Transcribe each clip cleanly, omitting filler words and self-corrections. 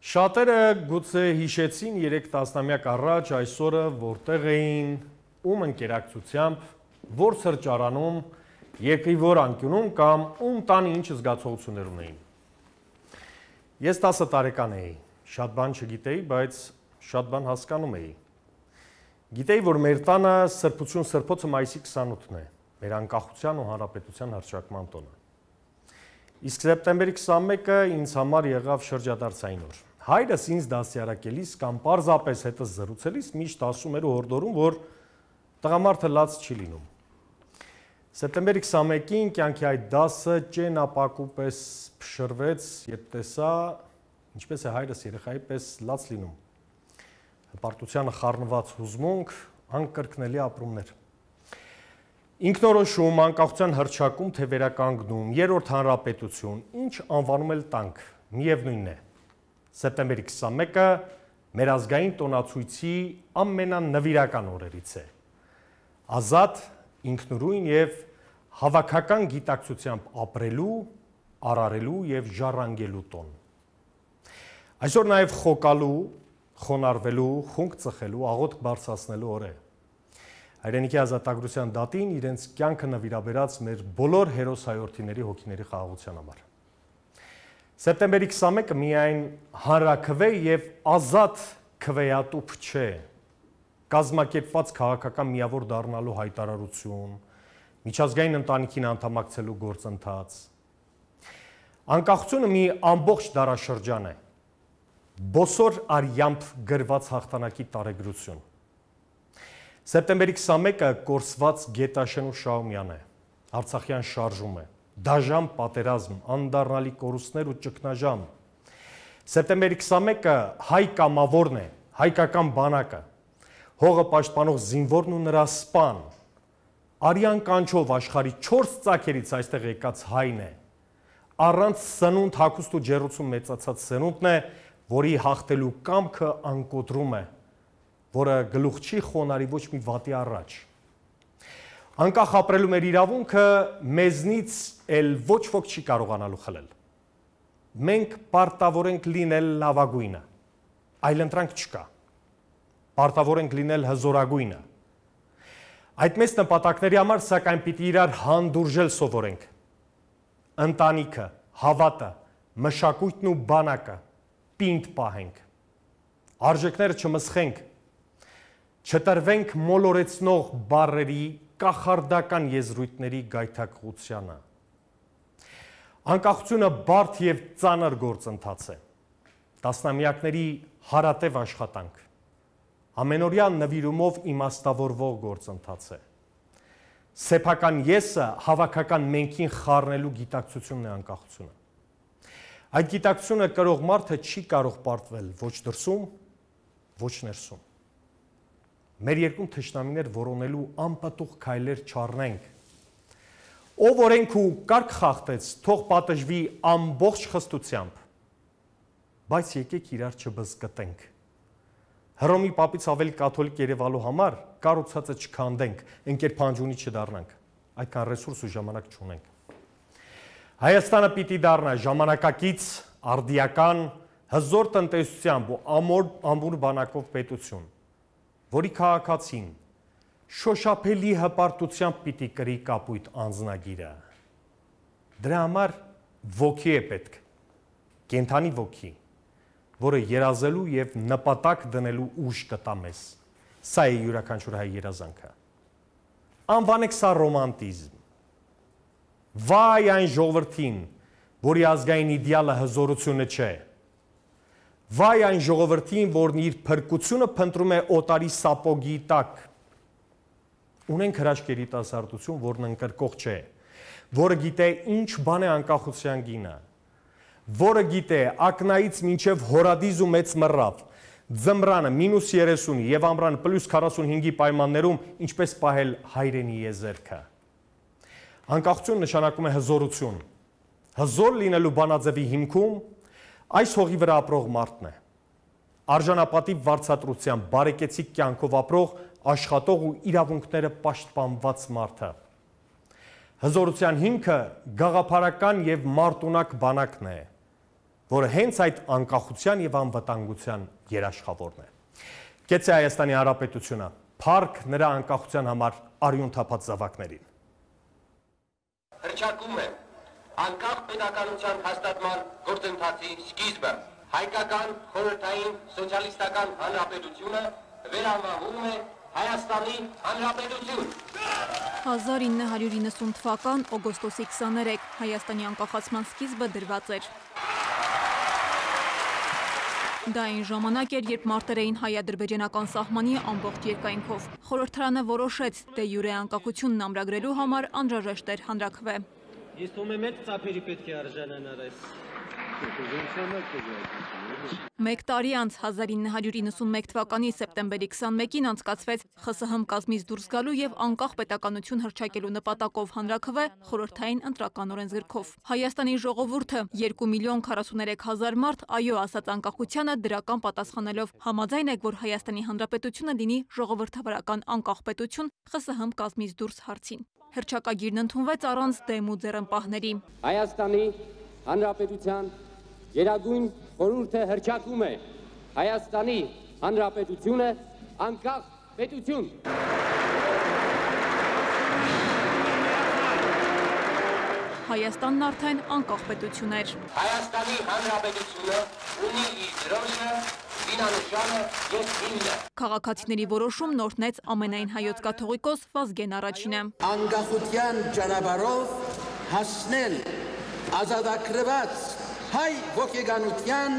Շատերը գուցե հիշեցին 3 տասնամյակ առաջ այս օրը որտեղ էին, ում ընկերակցությամբ, որ սրճարանում, երկրի որ անկյունում կամ ում տանի ինչ զգացողություններ ունեին։ Ես 10 տարեկան էի, շատ բան չգիտեի, բայց շատ բան հասկանում էի։ Գիտեի, որ մեր տանը սրբություն սրբոցը մայիսի 28-ն է, մեր անկախության ու հանրապետության հռչակման տոնը։ Իսկ սեպտեմբերի 21-ը ինձ համար եղավ շրջադարձային օր։ Հայրս ինձ դաստիարակելիս կամ պարզապես հետս զրուցելիս միշտ ասում էր ու հորդորում, որ տղամարդը լաց չի լինում։ Սեպտեմբերի 21-ին կյանքի այդ դասը ճենապակու պես փշրվեց, երբ տեսա, ինչպես է հայրս երեխայի պես լաց լինում։ Հպարտությանը խառնված հուզմունք, անկրկնելի ապրումներ։ Ինքնորոշում, անկախության հռչակում, թե վերականգնում, երրորդ հանրապետություն, ինչ անվանում էլ տանք, միևնույնն է։ Սեպտեմբերի 21-ը մեր ազգային տոնացույցի ամենանվիրական օրերից է։ Ազատ, ինքնուրույն և հավաքական գիտակցությամբ ապրելու, արարելու և ժառանգելու տոն։ Այսօր նաև խոկալու, խոնարհվելու, խունկ ծխելու, աղոթք բարձրացնելու օր է։ Հայրենիքի ազատագրության դատին իրենց կյանքը նվիրաբերած մեր բոլոր հերոս-հայորդիների հոգիների խաղաղության համար։ Սեպտեմբերի 21-ը միայն հանրաքվե և ազատ քվեատուփ չէ, կազմակերպված քաղաքական միավոր դառնալու հայտարարություն, միջազգային ընտանիքին անդամակցելու գործընթաց։ Անկախությունը մի ամբողջ դարաշրջան է, բոսոր արյամբ գրված հաղթանակի տարեգրություն։ Սեպտեմբերի 21-ը կորսված Գետաշեն ու Շահումյան է, Արցախյան շարժում է, դաժան պատերազմ, անդառնալի կորուստներ ու ճգնաժամ։ Սեպտեմբերի 21-ը հայ կամավորն է, հայկական բանակը, հողը պաշտպանող զինվորն ու նրա սպան, արյան կանչով աշխարհի 4 ծագերից այստեղ եկած հայն է, առանց սնունդ, հագուստ ու ջեռուցում մեծացած սնունդն է, որի հաղթելու կամքը անկոտրում է, որը գլուխ չի խոնարհի ոչ մի վատի առաջ։ Անկախ ապրելու մեր իրավունքը մեզնից էլ ոչ ոք չի կարողանալու խլել։ Մենք պարտավոր ենք լինել լավագույնը, այլընտրանք չկա։ Պարտավոր ենք լինել հզորագույնը։ Այդ մեծ նպատակների համար սակայն պիտի իրար հանդուրժել սովորենք։ Ընտանիքը, հավատը, մշակույթն ու բանակը պինդ պահենք։ Արժեքները չմսխենք, չտրվենք մոլորեցնող բառերի, կախարդական եզրույթների գայթակղությանը։ Անկախությունը բարդ և ծանր գործընթաց է, տասնամյակների հարատև աշխատանք, ամենօրյա նվիրումով իմաստավորվող գործընթաց է։ Սեփական եսը հավաքական մենքին խառնելու գիտակցությունն է անկախությունը։ Այդ գիտակցությունը կրող մարդը չի կարող պարտվել ոչ դրսում, ոչ ներսում։ Մեր երկրում թշնամիներ որոնելու անպտուղ քայլեր չառնենք։ Ով օրենք ու կարգ խախտեց, թող պատժվի ամբողջ խստությամբ, բայց եկեք իրար չբզկտենք։ Հռոմի պապից ավելի կաթոլիկ երևալու համար կառուցածը չքանդենք, ընկեր փանջունի չդառնանք, այդքան ռեսուրս ու ժամանակ չունենք։ Հայաստանը պիտի դառնա ժամանակակից, արդիական, հզոր տնտեսությամբ ու ամուր բանակով պետություն, որի քաղաքացին շոշափելի հպարտությամբ պիտի կրի կապույտ անձնագիրը։ Դրա համար ոգի է պետք, կենդանի ոգի, որը երազելու և նպատակ դնելու ուժ կտա մեզ։ Սա է յուրաքանչյուր հայ երազանքը։ Անվանեք սա ռոմանտիզմ։ Վայ այն ժողովրդին, որի ազգային իդեալը հզորությունը չէ։ Վայ այն ժողովրդին, որն իր փրկությունը փնտրում է օտարի սապոգի տակ։ Ունենք հրաշք երիտասարդություն, որն ընկրկող չէ, որը գիտե ինչ բան է անկախության գինը, որը գիտե ակնայից մինչև հորադիզ ու մեծ մռավ, ձմռանը -30 և ամռանը +45-ի պայմաններում ինչպես պահել հայրենի եզերքը։ Անկախություն նշանակում է հզորություն։ Հզոր լինելու բանաձևի հիմքում այս հողի վրա ապրող մարդն է։ Արժանապատիվ վարձատրությամբ բարեկեցիկ կյանքով ապրող, աշխատող ու իրավունքները պաշտպանված մարդը։ Հզորության հիմքը գաղափարական և մարտունակ բանակն է, որը հենց այդ անկախության եւ անվտանգության երաշխավորն է։ Կեցե Հայաստանի Հանրապետությունը փառք նրա անկախության համար արյուն թափած զավակներին։ Հռչակում է անկախ պետականության հաստատման գործընթացի սկիզբը։ Հայկական խորհրդային սոցիալիստական հանրապետությունը վերանվանվում է Հայաստանի Հանրապետություն։ 1990 թվական օգոստոսի 23 Հայաստանի անկախացման սկիզբը դրված էր։ Դա այն ժամանակ էր, երբ մարտեր էին հայ-ադրբեջանական սահմանի ամբողջ երկայնքով։ Խորհրդարանը որոշեց, դե յուրե անկախությունն ամրագրելու համար անհրաժեշտ էր հանրաքվե։ Ես թվում է մեծ ծափերի պետք է արժանանար այս։ Մեկ տարի անց 1991 թվականի սեպտեմբերի 21-ին անցկացվեց ԽՍՀՄ կազմից դուրս գալու եւ անկախ պետականություն հռչակելու նպատակով հանրաքվե խորհրդային ընտրական օրենսգրքով։ Հայաստանի ժողովուրդը 2,43,000 մարդ այո ասաց անկախությանը դրական պատասխանելով համաձայն եք, որ Հայաստանի Հանրապետությունը լինի ժողովրդավարական անկախ պետություն ԽՍՀՄ կազմից դուրս հարցին։ Հռչակագիրն ընդունվեց առանց դեմ ու ձեռնպահների։ Հայաստանի Հանրապետության Գերագույն խորհուրդը հռչակում է Հայաստանի Հանրապետությունը անկախ պետություն։ Հայաստանն արդեն անկախ պետություն էր։ Հայաստանի Հանրապետությունը ունի իր դրոշը, զինանշանը եւ հիմնը։ Քաղաքացիների որոշում նորտնեց ամենայն հայոց կաթողիկոս Վազգեն Առաջինը։ Անկախության ճանապարհով հասնել ազատագրված հայ ոգեգանության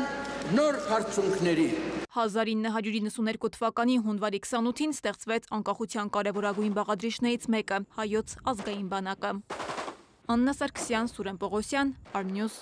նոր հարցունքների։ 1992 թվականի հունվարի 28-ին ստեղծվեց անկախության կարևորագույն բաղադրիչներից մեկը՝ հայոց ազգային բանակը։ Աննա Սարգսյան, Սուրեն Պողոսյան, Arnews